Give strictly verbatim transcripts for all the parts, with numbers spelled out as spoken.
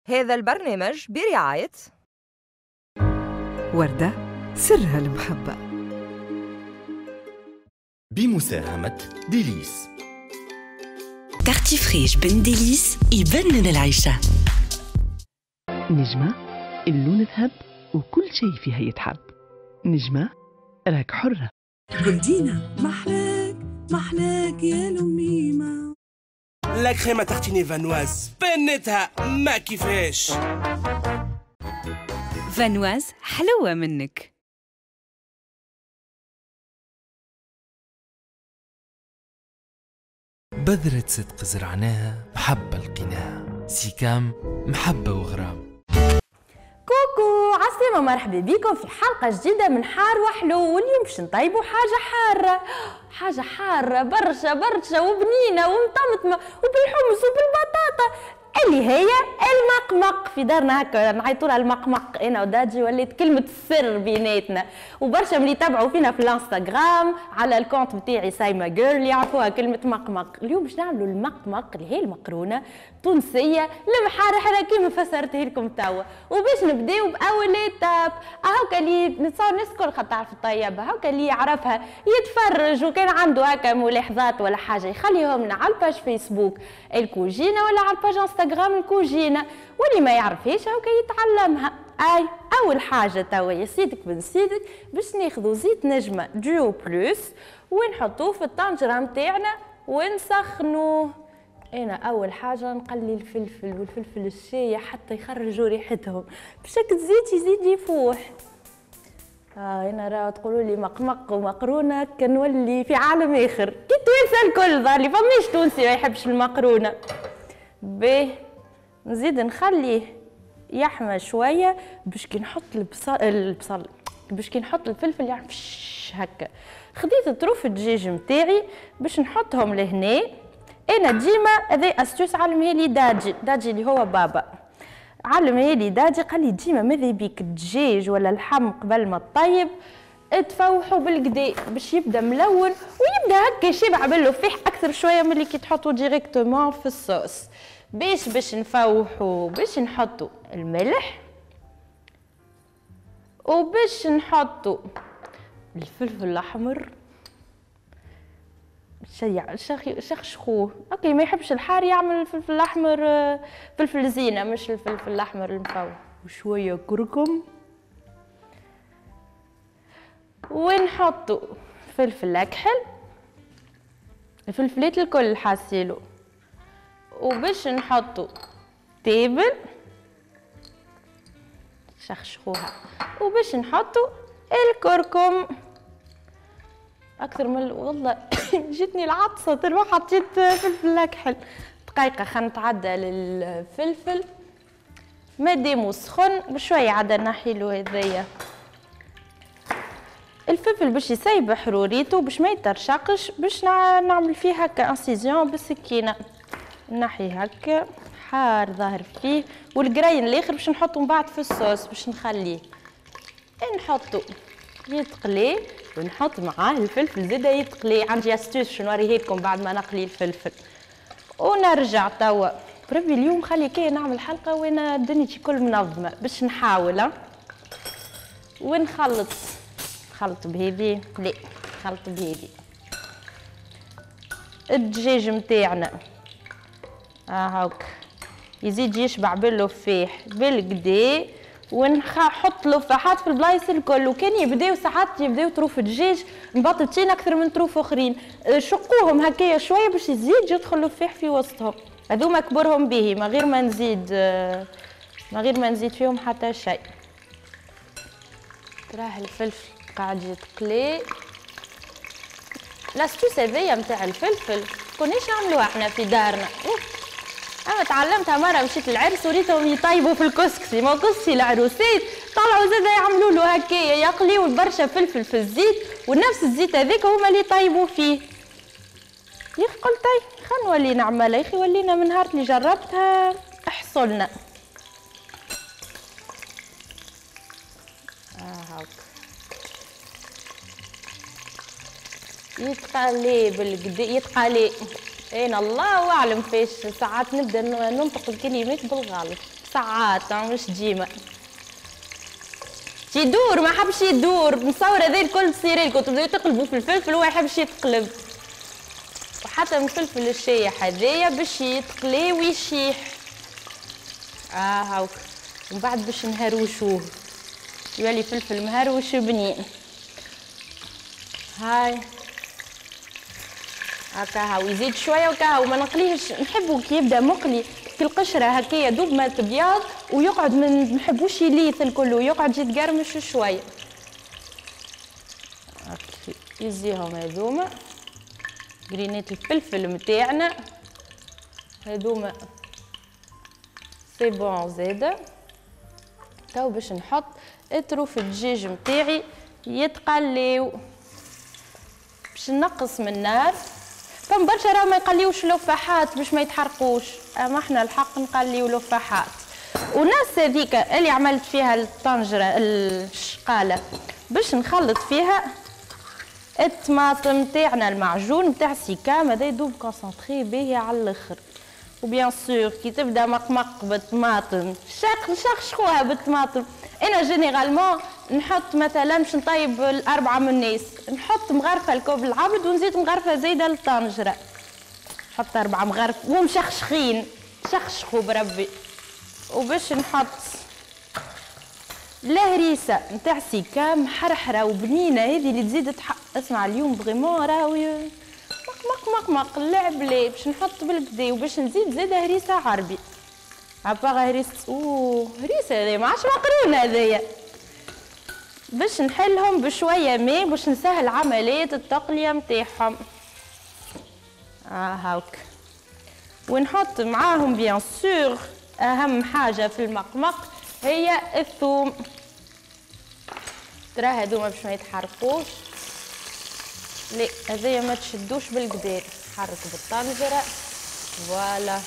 هذا البرنامج برعاية وردة سرها المحبة، بمساهمة ديليس. Tartifriche بن ديليس يبنن العيشة. نجمة اللون ذهب وكل شيء فيها يتحب. نجمة راك حرة. جولدينا محلاك محلاك يا لميمة. la crème à tartiner Vanoise بنتها ما كيفاش. Vanoise حلوة منك. بذرة صدق زرعناها محبة لقيناها، سيكام محبة وغرام. coucou عسلامة، مرحبا بكم في حلقة جديدة من حار وحلو. واليوم باش نطيبوا حاجة حارة، حاجة حارة برشا برشا وبنينة ومطمطمة وبالحمص وبالبطاطا، اللي هي المقمق. في دارنا هكا نعيطوا لها المقمق، انا وداجي ولات كلمة السر بيناتنا. وبرشا من اللي يتابعوا فينا في الانستغرام على ال compte نتاعي سايما جيرل يعرفوها كلمة مقمق. اليوم باش نعملوا المقمق اللي هي المقرونة تونسية المحرحرة كيما فسرتها لكم توا. وباش نبداو باول étape، هاكا اللي نتصور الناس الكل خاطر تعرف الطيبة، هاكا اللي يعرفها يتفرج وكان عنده هكا ملاحظات ولا حاجة يخليهم لنا على ال page فيسبوك الكوجينة ولا على ال page انستغرام الكوجينة، واللي ما يعرفهاش هاكا يتعلمها. اي اول حاجة توا يا سيدك بن سيدك باش ناخذوا زيت نجمة Duo Plus ونحطوه في الطنجرة نتاعنا ونسخنوه. انا اول حاجة نقلي الفلفل والفلفل الشايح حتى يخرجوا ريحتهم باش هكا الزيت يزيد يفوح. اه انا راه تقولوا لي مقمق ومقرونه كنولي في عالم اخر، كي التوانسة الكل ظهر لي فماش تونسي ما يحبش المقرونه. باهي نزيد نخليه يحمى شوية باش كي نحط البصل البصل باش كي نحط الفلفل يعمل هكا. خديت طروف الدجاج نتاعي باش نحطهم لهنا. انا ديما هذا astuce علمها لي داجي، داجي اللي هو بابا علمها لي داجي، قال لي ديما ماذا بيك الدجاج ولا اللحم قبل ما تطيب تفوحوا بالكدا باش يبدا ملون ويبدا هكا شبع باللفاح اكثر شوية من اللي كي تحطوا directement في الصوص. باش باش نفوحوا باش نحطوا الملح وباش نحطوا الفلفل الاحمر شيع شخشخوه. okay ما يحبش الحار يعمل الفلفل الاحمر فلفل زينة مش الفلفل الاحمر المفوح، وشوية كركم ونحطوا فلفل اكحل، الفلفلات الكل حاسيلو، وباش نحطوا تابل شخشخوها، وباش نحطوا الكركم اكثر من والله جتني العطسه تروح حطيت فلفل اكحل. دقيقة خلينا نتعدى للفلفل مادامو سخن بشوية عاد نحيلو هذايا الفلفل باش يسيب حروريته باش ما يترشقش، باش نعمل فيه هكا incision بالسكينة نحي هكا حار ظاهر فيه، والقرين الاخر باش نحطو من بعد في الصوص باش نخليه نحطو يتقلي ونحط معاه الفلفل زاده يتقلي. عندي astuce باش نوريه لكم بعد ما نقلي الفلفل. ونرجع توا بربي اليوم خلي كي نعمل حلقة وانا دنيتي كل منظمة باش نحاول. ونخلط خلط بهذي لا خلط بهذي الدجاج نتاعنا هاك يزيد يشبع باللفاح بالكدا، ونحط لفاحات في البلايص الكل. وكان يبداو ساعات يبداو طروف الدجاج مبططين اكثر من طروف اخرين، شقوهم هكايا شوية باش يزيد يدخل اللفاح في وسطهم. هذوما كبرهم به ما غير ما نزيد ما غير ما نزيد فيهم حتى شيء. تراه الفلفل قاعد يتقلي. l'astuce هذيا نتاع الفلفل كناش نعملوها احنا في دارنا، انا تعلمتها مرة مشيت للعرس وريتهم يطيبوا في الكسكسي، ما كسكسي العروسات طلعوا زاده يعملوا له هكايا يقليوا برشا فلفل في الزيت ونفس الزيت هذاك هما اللي يطيبوا فيه. يا اخي قلت طيب خلينا نولي نعملها، يا اخي ولينا من نهار اللي جربتها احصلنا. اه هاك يتقلي بالكدا يتقلي انا الله اعلم فاش ساعات نبدا ننطق الكلمات بالغلط، ساعات مش ديما. يدور ما حبش يدور، مصور هذا الكل تصير لكم تبداو تقلبوا في الفلفل وما يحبش يتقلب. وحتى من الفلفل الشايح هذايا باش يتقلي ويشيح. اه هاوك ومن بعد باش نهروشوه يولي فلفل مهروش بنين. هاي هكا هاو يزيد شوية وكا هاو ما نقليهش، نحبو كي يبدا مقلي في القشرة هكايا دوب ما تبيض ويقعد، ما نحبوش يليث الكل ويقعد يتقرمش شوية. يزيهم هذوما قرينات الفلفل متاعنا هذوما c'est bon زاده. تو باش نحط طروف الدجاج متاعي يتقليو، باش نقص من النار. فما برشا راه ما يقليوش لفاحات باش ما يتحرقوش، اما احنا الحق نقليو لفاحات. وناس هذيك اللي عملت فيها الطنجره الشقاله باش نخلط فيها الطماطم تاعنا المعجون نتاع سيكام هذا يدوب concentré باهي على الاخر. و bien sûr كي تبدا مقمق بالطماطم شق شخشخوها بالطماطم. انا généralement نحط مثلا باش نطيب الاربعة من الناس نحط مغرفه الكوب العبد ونزيد مغرفه زايدة للطنجره، نحط اربعة مغارف ومشخشخين شخشخوا بربي. وباش نحط الهريسه نتاع سيكام حرحره وبنينه هذه اللي تزيد تحق. اسمع اليوم vraiment راهو مق مق مق مق اللعب ليه باش نحط بالكدا. وباش نزيد زاده هريسه عربي à part هريسه، اوه هريسه هذايا ما عادش مقرونة هذايا. باش نحلهم بشوية ماء باش نسهل عملية التقليه نتاعهم. اه هاوك ونحط معاهم bien sûr اهم حاجة في المقمق هي الثوم. ترى هذوما باش ما يتحرقوش، لا هذايا ما تشدوش بالقدار، حرك بالطنجره voilà.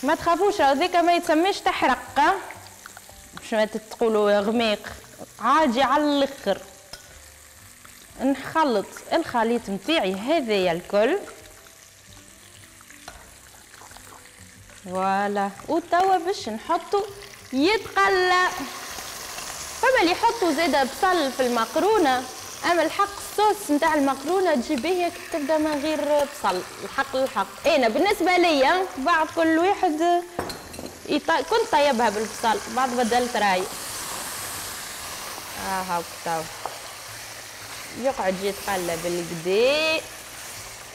ما تخافوش هذاك ما يتسميش تحرق باش ما تقولوا غميق، عادي على الاخر. نخلط الخليط نتاعي هذايا الكل voilà. وتوا باش نحطو يتقلى. فما اللي يحطوا زاده بصل في المقرونه، اما الحق الصوص نتاع المقرونه تجي باهيه كي تبدا من غير بصل. الحق الحق انا بالنسبة ليا بعد كل واحد يط... كنت طيبها بالبصل بعد بدلت راي. اه هاك تو يقعد يتقلى بالكدا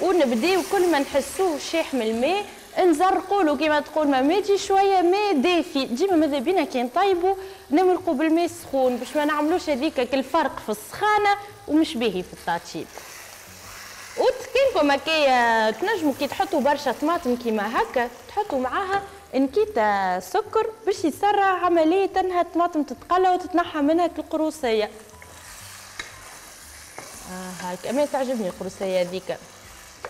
ونبداو كل ما نحسوه شاح من الماء نزرقوا له كيما تقول ماماتي شوية ماء دافي. ديما ماذا بينا كي نطيبوا نمرقوا بالماء السخون باش ما نعملوش هذيك الفرق في السخانه ومش باهي في التطيب. وتكينكم هكايا تنجموا كي تحطوا برشا طماطم كيما هكا تحطوا معاها نكيتا سكر باش يسرع عملية انها الطماطم تتقلى وتتنحى منها القروصيه. اه هاك اما تعجبني القروصيه هذيك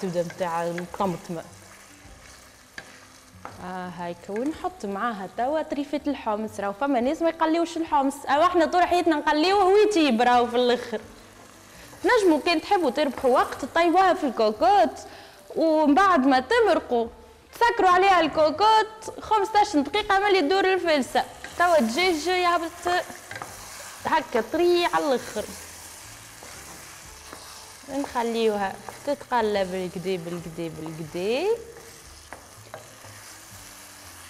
تبدا نتاع الطماطم. اه هايك ونحط معاها توا طريفه الحمص. راهو فما ناس ما يقليوش الحمص، او احنا طول حياتنا نقليوه ويطيب راهو في الاخر. تنجموا كان تحبوا تربحوا وقت طيبوها في الكوكوت ومن بعد ما تمرقوا تسكروا عليها الكوكوت خمسطاش دقيقة ملي تدور الفلسه. توا الدجاج يهبط هكا طري على الاخر. نخليوها تتقلى بالكدا بالكدا بالكدا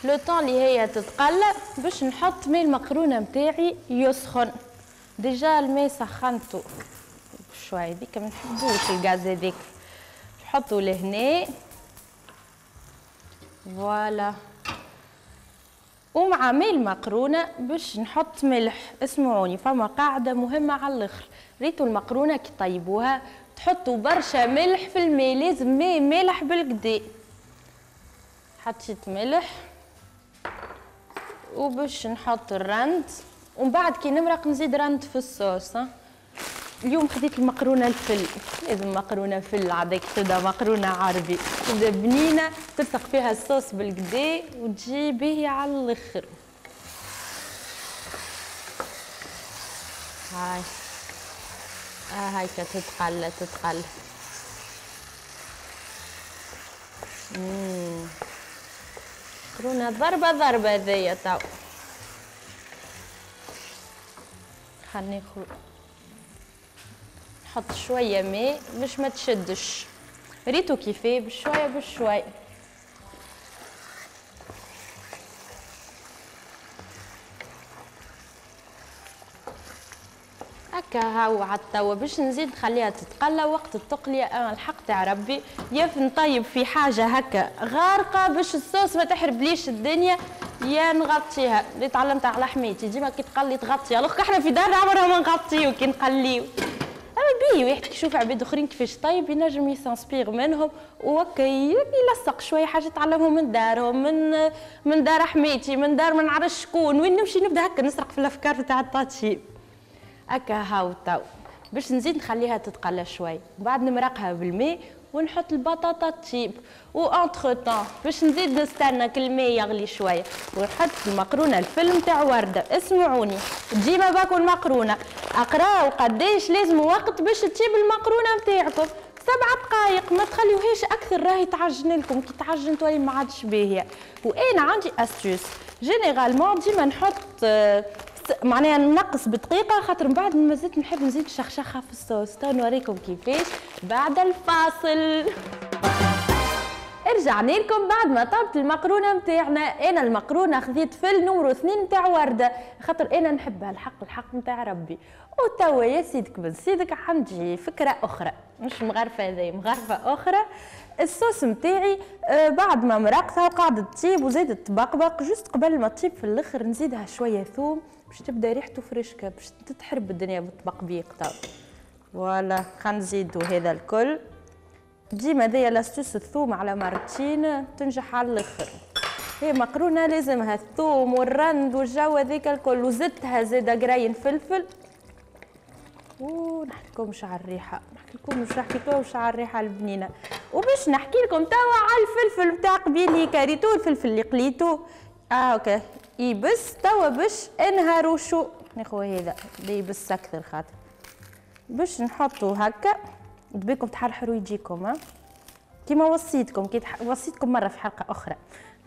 le temps اللي هي تتقلى باش نحط ماء المقرونه نتاعي يسخن. déjà الماء سخنته شوية هذيك ما نحبوش الغاز هذيك، نحطو لهنا voilà. ومع ماء المقرونه باش نحط ملح. اسمعوني فما قاعدة مهمة على الاخر، ريتو المقرونه كي طيبوها تحطوا برشا ملح في الماء، لازم ماء مالح بالكدا. حطيت ملح وباش نحط الرند ومن بعد كي نمرق نزيد رند في الصوص. اليوم خديت المقرونه الفل، لازم مقرونة فل عادك تبدا مقرونة عربي تبدا بنينه تلصق فيها الصوص بالكدا وتجي باهيه على الاخر. هاي اه هاي تتقلى تتقلى. امم مقرونة ضربه ضربه هذيا تو. خلينا ناخذ نحط شوية ماء باش ما تشدش. ريتو كيفاه بشوية بشوية. هكا هاو عاد توا باش نزيد نخليها تتقلى. وقت التقليه انا الحق تاع ربي يا نطيب في حاجة هكا غارقة باش الصوص ما تحربليش الدنيا، يا نغطيها. اللي تعلمت على حميتي ديما كي تقلي تغطي، alors احنا في دارنا عمرها ما نغطيو كي نقليو. اما بيه واحد كي يشوف عباد اخرين كيفاش طيب ينجم ي s'inspire منهم وهكا يلصق شوية حاجة تعلمهم من دارهم، من من دار حميتي، من دار ما نعرفش شكون. وين نمشي نبدا هكا نسرق في الافكار تاع التطيب. هكا هاو تو باش نزيد نخليها تتقلى شوي، بعد نمرقها بالماء ونحط البطاطا تطيب. و entre-temps باش نزيد نستنى كل الماء يغلي شوية ونحط المقرونه الفيلم تاع ورده. اسمعوني ديما باكل مقرونة، اقراو قداش لازم وقت باش تطيب المقرونه نتاعكم. سبع دقائق ما تخليوهاش اكثر، راهي تعجن لكم، كي تعجن تولي ما عادش باهيه. وانا عندي astuce généralement ديما نحط معناها نقص بدقيقة، خاطر من بعد مازلت نحب نزيد شخشخه في الصوص. تو نوريكم كيفاش بعد الفاصل. رجعنا لكم بعد ما طابت المقرونه نتاعنا. انا المقرونه خذيت فل numéro اثنين نتاع ورده، خاطر انا نحبها الحق الحق نتاع ربي. وتوا يا سيدك بن سيدك عندي فكرة اخرى، مش مغرفه هذه، مغرفه اخرى. الصوص نتاعي بعد ما مرقتها وقعدت تطيب وزادت تبقبق، juste قبل ما تطيب في الاخر نزيدها شوية ثوم باش تبدا ريحته فريشكه، باش تتحرب الدنيا بالتبقبيق. تو voilà خلينا نزيدو هذا الكل. ديما هذيا l'astuce الثوم على مرتين تنجح على الاخر. هي مقرونة لازمها الثوم والرند والجو هذاك الكل، وزدتها زاده قراين فلفل. ونحكي لكمش على الريحة، نحكي لكم مش نحكي لكمش على الريحة البنينه. وباش نحكي لكم توا على الفلفل نتاع قبيلي كاريتو، الفلفل اللي قليتو اه اوكي يبس. توا باش نهروشو ناخذ هذا اللي يبس اكثر، خاطر باش نحطو هكا بيكم تحرحروا يجيكم. ها كيما وصيتكم، كي تح... وصيتكم مرة في حلقة اخرى،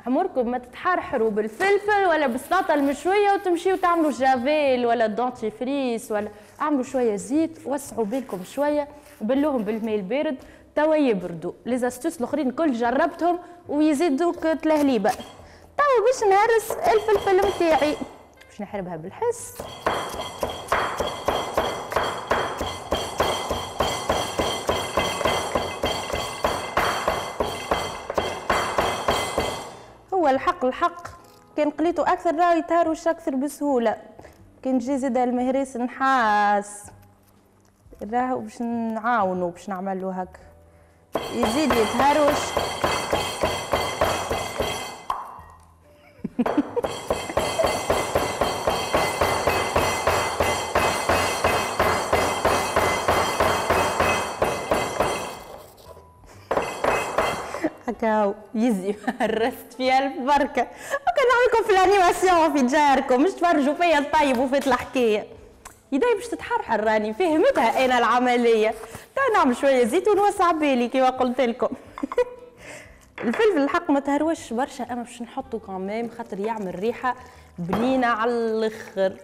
عمركم ما تتحرحروا بالفلفل ولا بالسلطة المشويه وتمشيو تعملوا جافيل ولا dentifrice ولا اعملوا شوية زيت، وسعوا بالكم شوية، بلوهم بالماء البارد توا يبردوا. les astuces الاخرين الكل جربتهم ويزيدوك تلهليبه. توا باش نهرس الفلفل نتاعي باش نحربها بالحس. هو الحق الحق كان قليته اكثر راه يتهروش اكثر بسهولة. كان جي زاد المهريس نحاس راهو باش نعاونو باش نعملو هكا يزيد يتهروش. هكا يزي هرست فيها البركة. وكان نعملكم في ال animation في جاركم مش تفرجوا فيا الطيب وفات الحكاية. يدي باش تتحرحر راني فهمتها انا العملية. تا نعمل شوية زيت ونوسع بالي كيما قلت لكم. الفلفل الحق ما تهروش برشا، اما باش نحطو quand même خاطر يعمل ريحه بنينه على الاخر.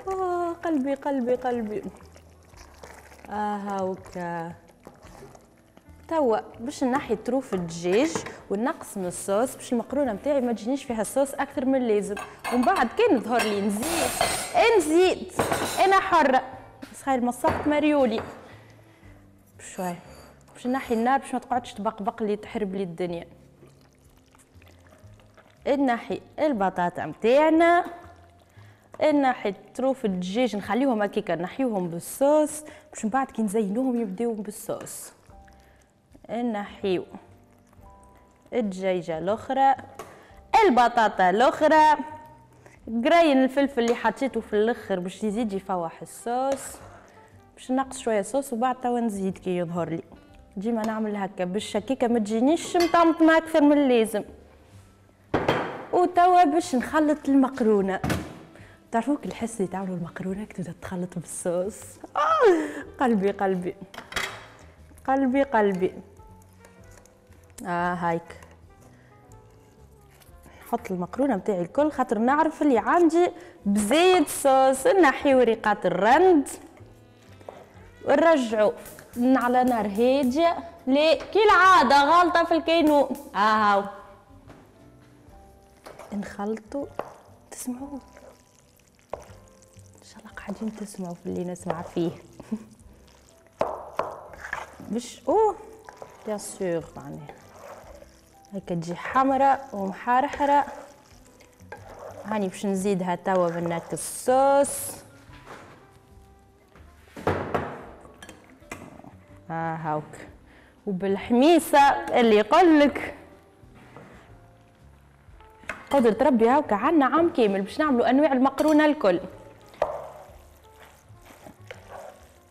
آه قلبي قلبي قلبي. اه هاوكا توا باش نحي طروف الدجاج ونقص من الصوص باش المقرونه نتاعي ما تجينيش فيها الصوص اكثر من اللازم. ومن بعد كان ظهر لي نزيد نزيد، انا حره. بس خير مصقت مريولي بشوي باش نحي النار باش ما تقعدش تبقبق لي تحرب لي الدنيا. نحي البطاطا نتاعنا، نحي طروف الدجاج نخليهم هكاكا نحيوهم بالصوص باش من بعد كي نزينوهم يبداو بالصوص. نحيو الدجاجة الاخرى، البطاطا الاخرى، قراين الفلفل اللي حطيته في الاخر باش يزيد يفوح الصوص، باش نقص شوية صوص وبعد توا نزيد كي يظهر لي. ديما نعمل هكا باش هكاكا ما تجينيش مطمطمه اكثر من اللازم. وتوا باش نخلط المقرونه. تعرفوا الحس اللي تعملوا المقرونه كي تبدا تخلط بالصوص؟ آه قلبي قلبي قلبي قلبي. اه هايك نحط المقرونه نتاعي الكل خاطر نعرف اللي عندي بزيت صوص. نحي وريقات الرند ونرجعو على نار هادية. لا كي العادة غلطه في الكينو. اهو نخلطو. تسمعوا ان شاء الله قاعدين تسمعوا في اللي نسمع فيه. باش اوه bien sûr معناها هكا تجي حمراء ومحرحره. هاني باش نزيدها توا بناك الصوص. ها هاوك وبالحميصه اللي يقولك قدرة ربي هاوك عنا عام كامل باش نعملوا انواع المقرونه الكل،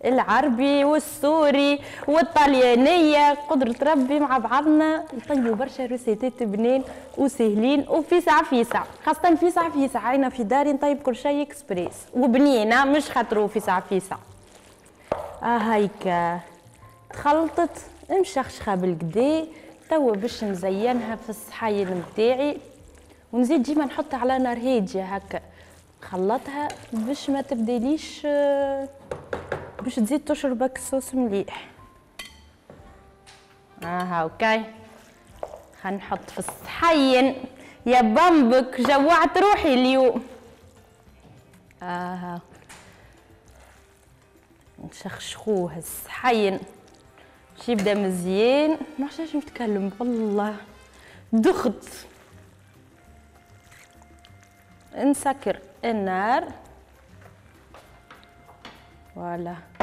العربي والسوري والطليانيه. قدرة ربي مع بعضنا نطيبوا برشا روسيتات بنين وسهلين وفيسع فيسع، خاصة فيسع فيسع. عينا في داري نطيب كل شيء اكسبريس وبنينه مش خاطرو فيسع فيسع. اه هايك تخلطت مشخشخه بالكدا. توا باش نزينها في الصحاين نتاعي ونزيد ديما نحطها على نار هادية هكا، نخلطها باش ما تبدليش، باش تزيد تشربك الصوص مليح. اه هاوكاي خلينا نحط في الصحين. يا بامبك جوعت روحي اليوم. اه نشخشخوه الصحين باش يبدا مزيان. ما عرفتش نتكلم والله دخت. نسكر النار voilà.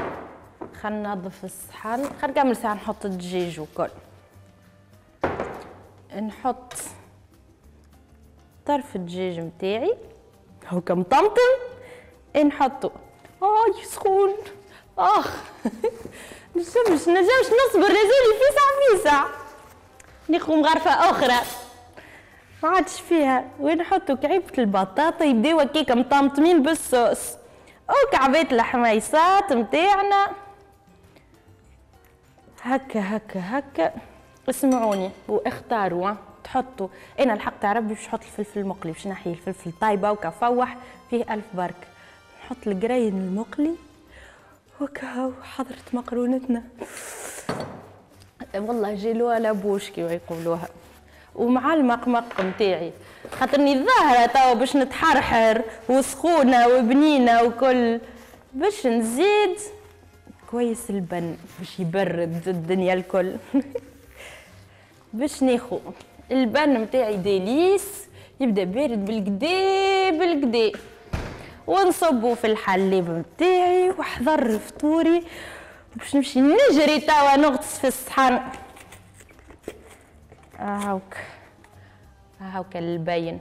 خلينا ننظف الصحن. خلينا نكمل ساعة نحط الدجاج وكل. نحط طرف الدجاج نتاعي هوكا مطمطم نحطو. اي سخون اخ نجمش نجمش نصبر، لازم فيسع فيسع. ناخذ مغرفه اخرى ما عادش فيها. ونحطو كعيبه البطاطا يبداو هكاكا مطمطمين بالصوص وكعبات الحميصات نتاعنا هكا هكا هكا. اسمعوني واختاروا تحطوا. انا الحق تاع ربي باش نحط الفلفل المقلي باش نحي الفلفل طايبه وكفوح فيه الف برك. نحط القرين المقلي وكاو حضرت مقرونتنا. والله جيلوها لابوش كيما يقولوها. ومع المقمق نتاعي خاطرني ظاهره توا باش نتحرحر وسخونه وبنينه وكل. باش نزيد كويس البن باش يبرد الدنيا الكل. باش ناخو البن نتاعي ديليس يبدا بارد بالكدا بالكدا ونصبو في الحليب نتاعي وحضر فطوري باش نمشي نجري توا نغطس في الصحن. هاوك هاوك البين.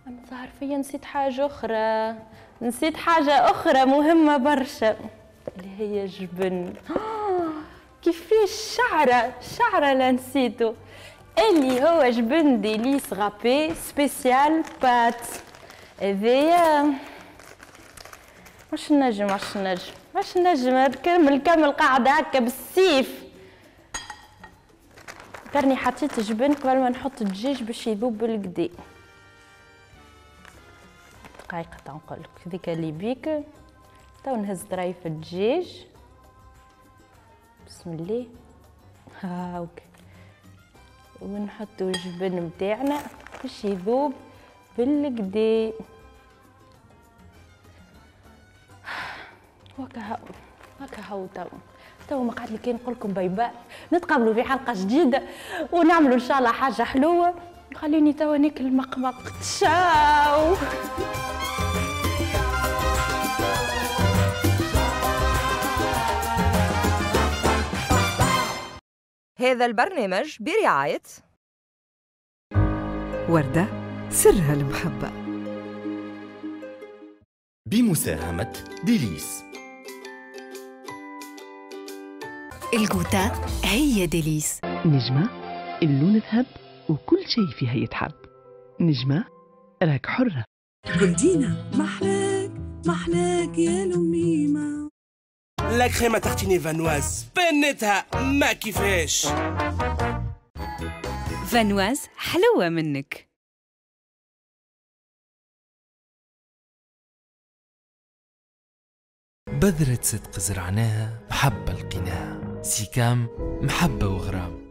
انا ظهر فيا نسيت حاجة اخرى، نسيت حاجة اخرى مهمة برشا اللي هي الجبن. كيفاش شعره شعره لا نسيتو، اللي هو جبن ديليس râpé spécial pâtes. هذايا واش نجم واش نجم واش نجم نكمل كمل قاعدة هكا بالسيف. كرني حطيت جبن قبل ما نحط الدجاج باش يذوب بالكدا. دقيقة تنقولك ذيك اللي بيك. تو نهز طرايف الدجاج بسم الله هاوك ونحطو الجبن نتاعنا باش يذوب بالكدا. وكهو هكا تو تو ما قعد لي كان نقول لكم bye bye. نتقابلوا في حلقة جديدة ونعملوا ان شاء الله حاجة حلوة. خليني توا ناكل مقمق. تشاو. هذا البرنامج برعاية وردة سرها المحبة بمساهمة ديليس. الجوتا هي ديليس. نجمة اللون ذهب وكل شيء فيها يتحب. نجمة راك حرة. جولدينا محلاك محلاك يا لميمة. la crème à tartiner Vanoise بنتها ما كيفاش. Vanoise حلوة منك. بذرة صدق زرعناها محبة لقيناها، سيكام محبة وغرام.